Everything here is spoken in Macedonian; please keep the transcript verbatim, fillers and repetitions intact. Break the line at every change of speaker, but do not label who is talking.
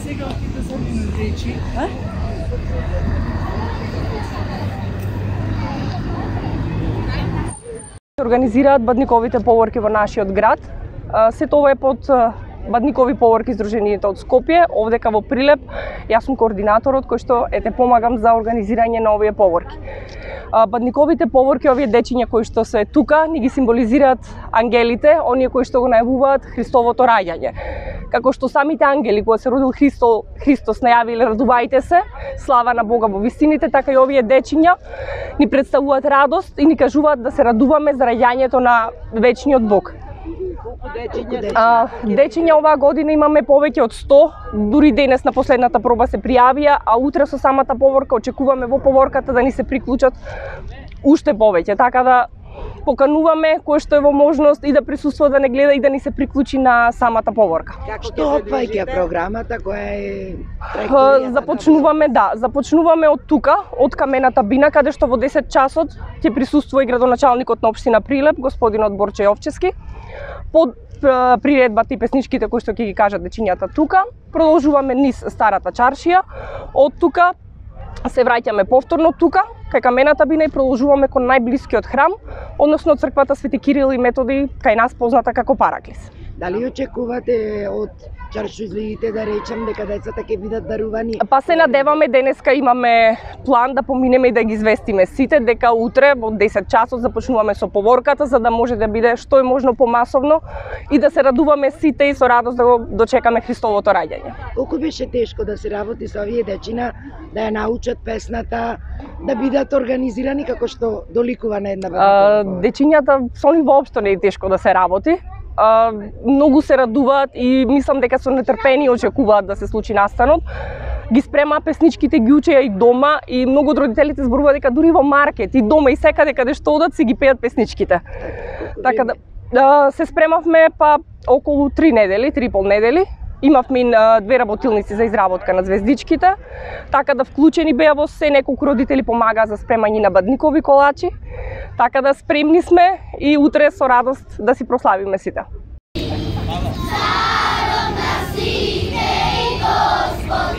Сега отиде за речи, а?
Организираат бадниковите поворки во нашиот град. Се тоа е под Бадникови поворки Сдруженијето од Скопје, овдека во Прилеп. Јас сум координаторот кој што ете помагам за организирање на овие поворки. Бадниковите поворки, овие дечиња кои што се тука, ни ги символизираат ангелите, оние кои што го најавуваат Христовото раѓање. Како што самите ангели кога се родил Христо, Христос најавиле радувајте се, слава на Бога во вистините, така и овие дечиња ни представуваат радост и ни кажуваат да се радуваме за раѓањето на вечниот Бог. А, дечиња оваа година имаме повеќе од сто, дури денес на последната проба се пријавија, а утре со самата поворка очекуваме во поворката да ни се приклучат уште повеќе, така да покануваме кој што е во можност и да присуствува, да не гледа и да ни се приклучи на самата поворка.
Што опаѓа програмата која е
траекторија? Започнуваме, да, започнуваме од тука, од Камената бина, каде што во десет часот ќе присуствува и градоначалникот на општина Прилеп, господинот Борче Јовчевски. Под приредбата и песничките кои што ќе ги кажат дечињата тука, продолжуваме низ Старата чаршија, од тука се враќаме повторно тука, кај Камената бина и продолжуваме кон најблискиот храм, односно црквата Свети Кирил и Методи, кај нас позната како Параклис.
Дали очекувате од чаршузлиите, да речем, дека децата ќе бидат дарувани?
Па се надеваме, денеска имаме план да поминеме и да ги известиме сите дека утре во десет часот започнуваме со поворката, за да може да биде што е можно помасовно и да се радуваме сите и со радост да го дочекаме Христовото раѓање.
Колку беше тешко да се работи со овие дечина, да ја научат песната, да бидат организирани како што доликува на една бабка?
Дечињата со нив воопшто не е тешко да се работи. Uh, многу се радуваат и мислам дека со нетрпение очекуваат да се случи настанот. Ги спремаа песничките, ги учеја и дома и многу од родителите зборуваат дека дури во маркет и дома и секаде каде што одат си ги пеат песничките. Така да uh, се спремавме па околу три недели, три и пол недели. Имавме uh, две работилници за изработка на звездичките, така да вклучени беа во се, неколку родители помагаа за спремање на бадникови колачи. Така да спремни сме и утре со радост да си прославиме сите.
Царом на сите и Господ,